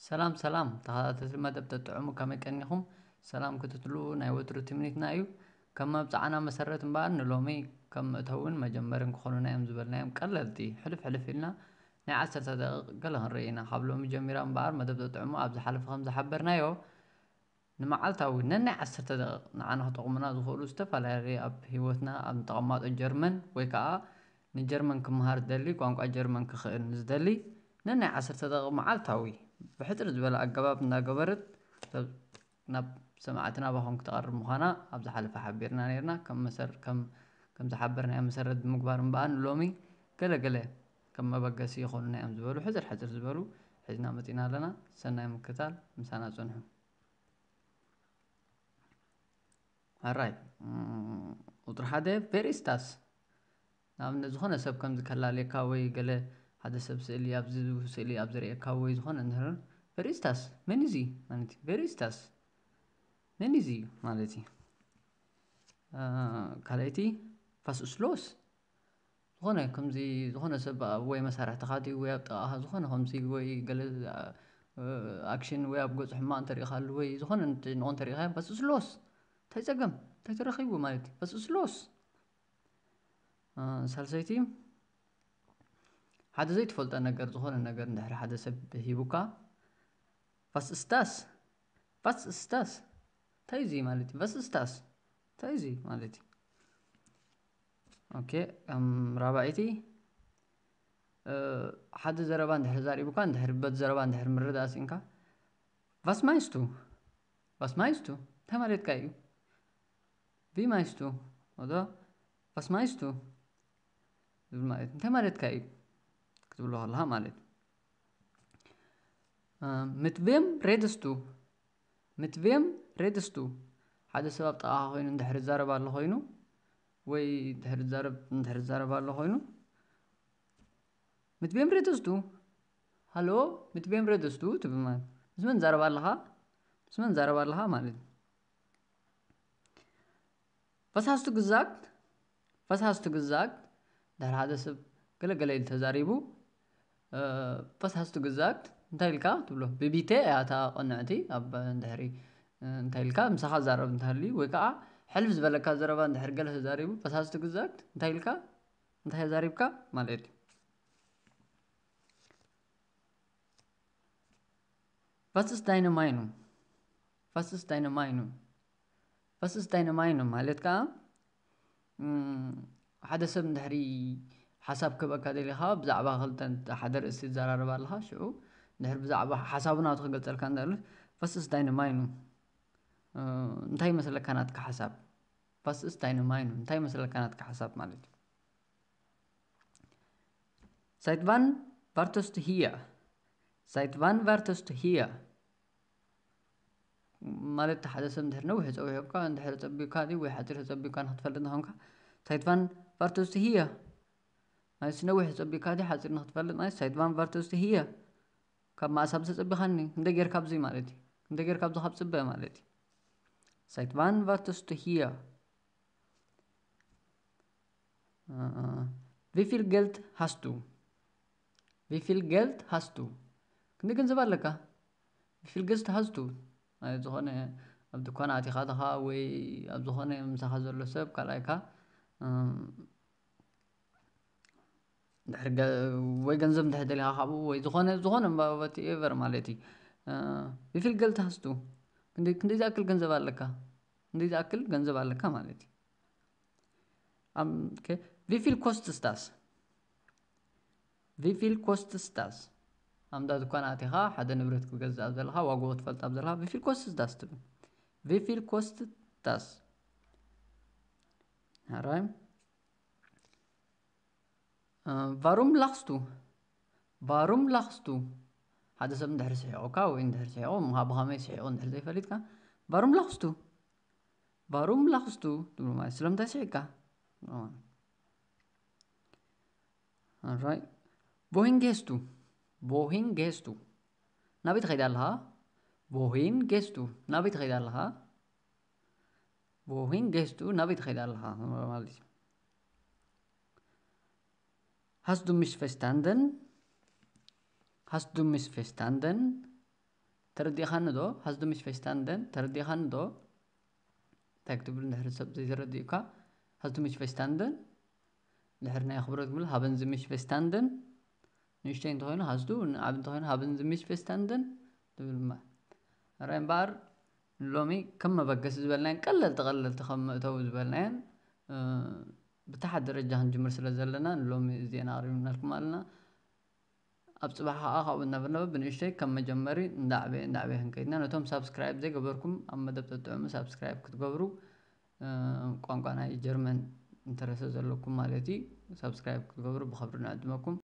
ሰላም ሰላም ተኸታተልቲ መደብ ተጥዕሙ፣ ከመይ ቀኒኹም? ሰላም ክትትሉ ናይ ወትሩ ትምኒትና እዩ። ከም መብጽዓና መሰረት እምበኣር ንሎሚ ከም መእተውን መጀመርን ክኾኑና እዮም ዝበልናዮም ቀለልቲ ሕልፍ ሕልፍ ኢልና ናይ ዓሰርተ ደቂቕ ገለ ክንርኢ ኢና። ካብ ሎሚ ጀሚራ እምበኣር መደብ ተጥዕሙ ኣብ ዝሓለፈ ከም ዝሓበርናዮ ንመዓልታዊ ነናይ ዓሰርተ ደቂቕ ንዓና ክጠቕሙና ዝኽእሉ ዝተፈላለዩ ኣብ ህይወትና ኣብ ንተቐማጦ ጀርመን ወይ ከዓ ንጀርመን ክመሃር ዝደሊ፣ ቋንቋ ጀርመን ክኽእል ንዝደሊ ነናይ ዓሰርተ ደቂቕ መዓልታዊ ብሕጽር ዝበለ ኣገባብ እናገበረት ናብ ሰማዕቲ ናባኹም ክትቐርብ ምዃና ኣብ ዝሓለፈ ሓቢርና ነይርና። ከም መሰር ከም ከም ዝሓበርናዮ መሰረት ብምግባር እምበኣር ንሎሚ ገለ ገለ ከም መበገሲ ይኾኑና እዮም ዝበሉ ሕጽር ሕጽር ዝበሉ ሒዝና መጺና ኣለና። ሰናይ ምክታል፣ ምሳና ጽንሑ። ኣራይ ቁጥሪ ሓደ ቬሪስታስ ንኣብነት ዝኾነ ሰብ ከም ዝከላለየካ ወይ ገለ ሓደ ሰብ ስእሊ ኣብዚ ስእሊ ኣብ ዝርእየካ ወይ ዝኾነ እንድሕር ቬሪስታስ መን እዚ ማለት እዩ። ቬሪስታስ መን እዚ ማለት እዩ። ካልኣይቲ ፋስስሎስ ዝኾነ ከምዚ ዝኾነ ሰብ ወይ መሳርሕትኻ ድዩ ወይ ኣብ ጥቓኻ ዝኾነ ከምዚ ወይ ገለ ኣክሽን ወይ ኣብ ገጹ ሕማቕ እንተሪኢኻሉ ወይ ዝኾነ ጭንቆ እንተሪኢኻ ፋስስሎስ እንታይ ጸገም እንታይ ተረኺቡ ማለት እዩ። ፋስስሎስ ሳልሰይቲ ሓደ ዘይትፈልጦ ነገር ዝኾነ ነገር እንድሕር ሓደ ሰብ ሂቡካ ፋስስታስ ፋስስታስ እንታይ እዚ ማለት እዩ። ፋስስታስ እንታይ እዚ ማለት እዩ። ኦኬ ራባይቲ ሓደ ዘረባ እንድሕር ዛሪቡካ እንድሕር በት ዘረባ እንድሕር ምርዳእ ስኢንካ ቫስማይስቱ ቫስማይስቱ እንታይ ማለትካ እዩ። ቪማይስቱ ወዶ ቫስማይስቱ ዝብል ማለት እንታይ ማለትካ እዩ ክትብሎ ከለካ ማለት ምትቤም ሬድስቱ ምትቤም ሬድስቱ ሓደ ሰብ ኣብ ጥቓኻ ኮይኑ እንድሕር ዛረብ ኣሎ ኮይኑ ወይ እንድሕር ዛረብ እንድሕር ዛረብ ኣሎ ኮይኑ ምትቤም ሬድስቱ ሃሎ ምትቤም ሬድስቱ ትብል ማለት ምስ መን ዛረብ ኣለኻ ምስ መን ዛረብ ኣለኻ ማለት እዩ። ፈሳስቱ ግዛግት ፈሳስቱ ግዛግት ድሕሪ ሓደ ሰብ ገለገለ ኢሉ ተዛሪቡ ፈሳስቱ ግዛግት እንታይ ኢልካ ትብሎ ብቢተ እያ እታ ቅንዕቲ ኣብ ድሕሪ እንታይ ኢልካ ምሳኻ ዛረብ እንተሃልዩ ወይ ከዓ ሕልፍ ዝበለካ ዘረባ እንድሕር ገለ ተዛሪቡ ፈሳስቱ ግዛግት እንታይ ኢልካ እንታይ ተዛሪብካ ማለት እዩ። Was ist deine Meinung? Was ist deine Meinung? Was ist deine Meinung? ማለት ከዓ ሓደ ሰብ እንድሕሪ ሓሳብ ክህበካ ደሊኻ ብዛዕባ ክልተ ሓደ ርእሲ ትዘራረብ ኣለኻ ሽዑ እንድሕር ብዛዕባ ሓሳቡ ናቱ ክገልፀልካ እንዳ Was ist deine Meinung? እንታይ ይመስለካ ናትካ ሓሳብ? Was ist deine Meinung? እንታይ ይመስለካ ናትካ ሓሳብ ማለት እዩ። Seit wann wartest du hier? Seit wann wartest du hier? ማለት ሓደ ሰብ እንድሕር ነዊሕ ፀዊዑካ እንድሕር ፀቢካ ድዩ ወይ ሓፂር ተፀቢካ ንክትፈልጥ ንኮንካ Seit wann wartest du hier? ማለት ነዊሕ ፀቢካ ድዩ ሓፂር ንክትፈልጥ ማለት Seit wann wartest du hier? ካብ ማእሳብ ተፀቢኻኒ እንደ ጌርካ ኣብዚ ማለት እዩ እንደ ጌርካ ኣብዚ ካብ ፅበ ማለት እዩ። Seit wann wartest du hier? Wie viel Geld hast du? Wie viel Geld hast du? ክንደይ ገንዘብ ኣለካ? Wie viel Geld hast du? ማለት ዝኾነ ኣብ ድኳን ኣቲኻ ዲኻ ወይ ኣብ ዝኾነ ምሳኻ ዘሎ ሰብ ካልኣይካ ድሕሪ ወይ ገንዘብ እንድሕር ደሊኻ ካብኡ ወይ ዝኾነ ዝኾነ whatever ማለት እዩ። Wie viel Geld hast du? ክንደይ ዝኣክል ገንዘብ ኣለካ? ክንደይ ዝኣክል ገንዘብ ኣለካ ማለት እዩ። Wie viel kostet das? Wie viel kostet das? ኣብ እንዳ ድኳን ኣቲኻ ሓደ ንብረት ክትገዝእ ኣብ ዘለኻ ዋግኡ ክትፈልጥ ኣብ ዘለኻ Wie viel kostet das ትብል። Wie viel kostet das? ኣራይ Warum lachst du? Warum lachst du? ሓደ ሰብ እንድሕር ስሒቑካ ወይ እንድሕር ስሒቑ ብኸመይ ስሒቑ እንድሕር ዘይፈሊጥካ Warum lachst du? Warum lachst du? ትብሎ ማለት ስለምንታይ ስሒቕካ? Alright. Wohin gehst du? Wohin gehst du? ናበይ ትኸይድ ኣለኻ? Wohin gehst du? ናበይ ትኸይድ ኣለኻ? Wohin gehst du? ናበይ ትኸይድ ኣለኻ ማለት እዩ። Hast du mich verstanden? Hast du mich verstanden? ተረዲኻኒ ዶ? Hast du mich verstanden? ተረዲኻኒ ዶ? እንታይ ክትብል እንድሕር ሰብ ዘይተረዲኡካ፣ Hast du mich verstanden? ድሕር ናይ ኣኽብሮት ክብል፣ Haben Sie mich verstanden? ንእሽተይ እንተኾይኑ Hast du፣ ዓብ እንተኾይኑ Haben Sie mich verstanden? ትብል እማ። ራይ እምበኣር ሎሚ ከም መበገሲ ዝበልናየን ቀለልቲ ቀለልቲ ከም መእተዊ ዝበልናየን ብታሓት ደረጃ ክንጅምር ስለ ዘለና ንሎሚ እዚአን ኣቕሪብናልኩም ኣለና። ኣብ ፅባሕ ከዓ ካብኡ እናበልና ብንእሽተይ ከም መጀመሪ እንዳዕበየ እንዳዕበየ ክንከይድና ነቶም ሳብስክራይብ ዘይገበርኩም ኣብ መደብ ተጥዕሙ ሳብስክራይብ ክትገብሩ፣ ቋንቋ ናይ ጀርመን እንተረሰ ዘለኩም ማለት እዩ ሳብስክራይብ ክትገብሩ ብኸብሪ ንዕድመኩም።